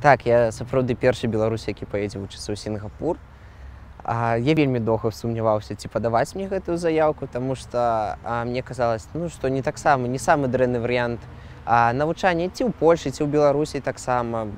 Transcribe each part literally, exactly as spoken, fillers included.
Так, я сапраўды першы беларус, які паедзе вучыцца ў Сінгапур. А, я вельмі доўга сумняваўся, ці падаваць мне гэтую заяўку, таму што а, мне казалось, ну, што не таксама не самы дрэнны варыянт а, навучання ці ў Польшы, ці ў Беларусі таксама.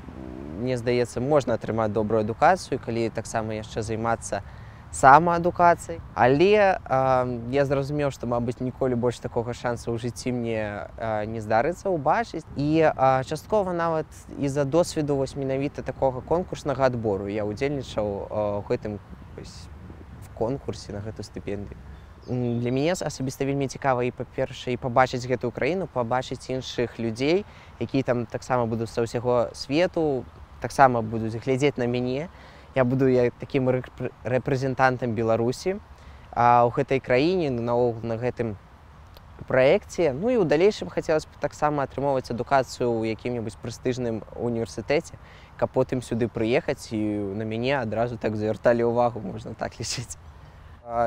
Мне здаецца, можна атрымаць добрую адукацыю, калі таксама яшчэ займацца самаадукацыяй. Але а, я зразумеў, што, мабыць, ніколі больш такога шанса ў жыцці мне а, не здарыцца ўбачыць. І а, часткова нават з-за досведу вось менавіта такога конкурснага адбору я ўдзельнічаў у гэтым в конкурсе на гэту стыпендыю. Для мяне асабіста вельмі цікава і, па-першае, і пабачыць гэтую краіну, пабачыць іншых людзей, якія там таксама будуць са ўсяго свету, таксама будуць глядзець на мяне. Я буду як такім рэпрэзентантам Беларусі а, ў гэтай краіне, наогул на гэтым праекце. Ну і ў далейшым хацелася б таксама атрымоўваць адукацыю ў якім-небудзь прэстыжным універсітэце, каб потым сюды прыехаць і на мяне адразу так звярталі ўвагу, можна так лічыць.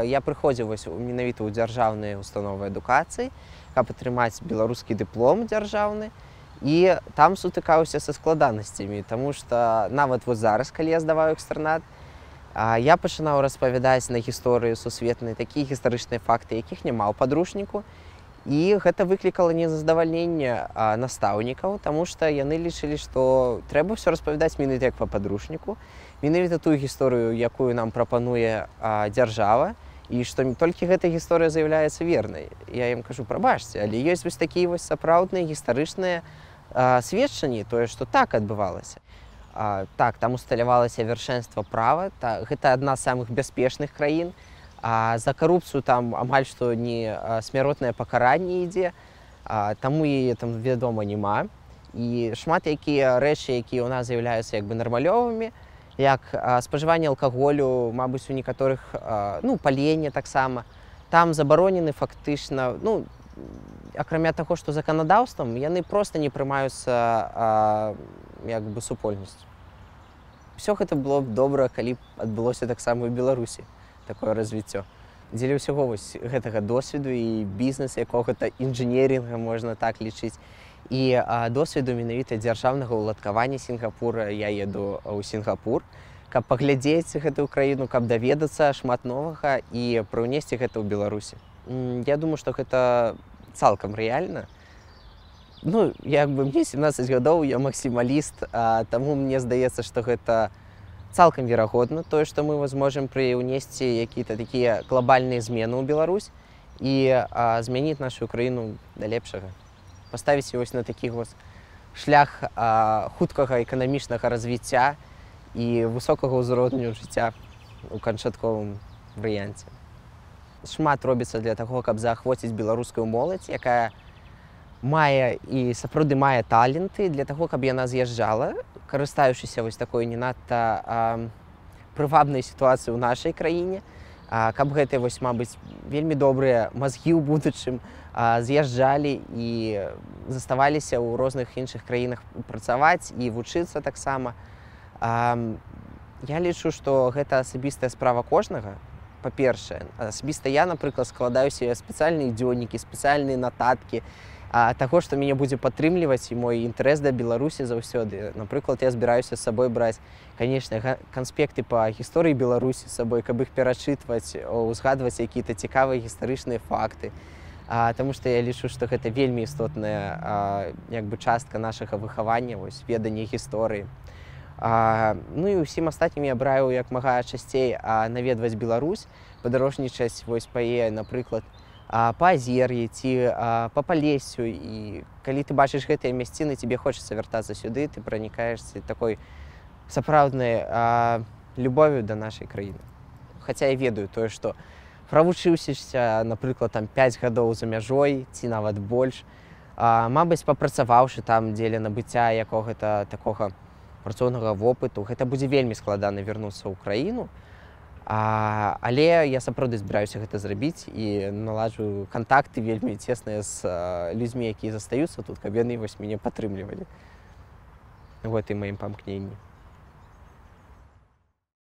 Я прыходзіў вось менавіта ў дзяржаўныя установы адукацыі, каб атрымаць беларускі дыплом дзяржаўны. І там сутыкаўся са складанасцямі, таму што нават вот зараз, калі я здаваў экстэрнат, я пачынаў распавядаць на гісторыю сусветнай такія гістарычныя факты, якіх няма ў падручніку. І гэта выклікала незадавальненне настаўнікаў, таму што яны лічылі, што трэба ўсё распавядаць менавіта як па падручніку, менавіта тую гісторыю, якую нам прапануе дзяржава, і што толькі гэта гісторыя з'яўляецца вернай. Я ім кажу, прабачце, але ёсць вось такія вось сапраўдныя гістарычныя сведчанні, тое, што так адбывалася. Так, там усталявалася вяршэнства права, гэта адна з самых бяспечных краін. А за карупцыю там амаль што не смяротнае пакаранне ідзе, таму яе там, вядома, няма. І шмат якія рэчы, якія ў нас з'яўляюцца як бы нармалёвымі, як спажыванне алкаголю, мабыць, у некаторых, ну, паленне таксама, там забаронены фактычна, ну, акрамя таго, што заканадаўствам, яны проста не прымаюцца як бы супольнасцю. Усё гэта было б добра, калі б адбылося таксама ў Беларусі. Такое развіццё. Дзеля ўсяго вось гэтага досведу і бізнес якога-то інжынерінга, можна так лічыць, і а, досведу менавіта дзяржаўнага ўладкавання Сінгапура я еду ў Сінгапур, каб паглядзець гэтую краіну, каб даведацца шмат новага і прыўнесці гэта ў Беларусі. Я думаю, што гэта цалкам рэальна. Ну, як бы мне сямнаццаць гадоў, я максімаліст, а, таму мне здаецца, што гэта цалкам верагодна, тое, што мы зможам прыўнесці якія-то такія глобальныя змены ў Беларусь і а, змяніць нашу краіну да лепшага. Паставіць вось на такі вось шлях а, хуткага эканамічнага развіцця і высокага ўзроўню жыцця ў канчатковым варыянце. Шмат робіцца для таго, каб заахвоціць беларускую моладзь, якая мае і сапраўды мае таленты для таго, каб яна з'язджала, карыстаючыся вось такой не надта прывабнай сітуацыяй у нашай краіне, а, каб гэтыя вось, мабыць, вельмі добрыя мазгі ў будучым а, з'язджалі і заставаліся ў розных іншых краінах працаваць і вучыцца таксама. А, я лічу, што гэта асабістая справа кожнага. Па-першае, асабіста я, напрыклад, складаю сабе спецыяльныя дзённікі, спецыяльныя нататкі, а таго, што мяне будзе падтрымліваць і мой інтарэс да Беларусі заўсёды. Напрыклад, я збіраюся з сабой браць, канечне, канспекты па гісторыі Беларусі з сабой, каб іх перачытваць, узгадваць якія-то цікавыя гістарычныя факты. А, таму што я лічу, што гэта вельмі істотная а, як бы частка нашага выхавання, вось, ведання гісторыі. А, ну і ўсім астатнім я браю як мага часцей а, наведваць Беларусь, падарожнічаць вось па яе, напрыклад, па азер'і ці па палессю, і калі ты бачыш гэтыя мясціны, тебе хочацца вяртацца сюды, ты пранікаешся такой сапраўднай любов'ю да нашай краіны. Хаця я ведаю тое, што правучыўся, напрыклад, там пяць гадоў за мяжой ці нават больш, мабыць, папрацаваўшы там дзеля набыцця якога-то такога працоўнага вопыту, гэта будзе вельмі складана вярнуцца ў краіну. А, але я сапраўды збіраюся гэта зрабіць і наладжу кантакты вельмі цесныя з а, людзьмі, якія застаюцца тут, каб яны вось мяне падтрымлівалі у гэтым маім памкненні.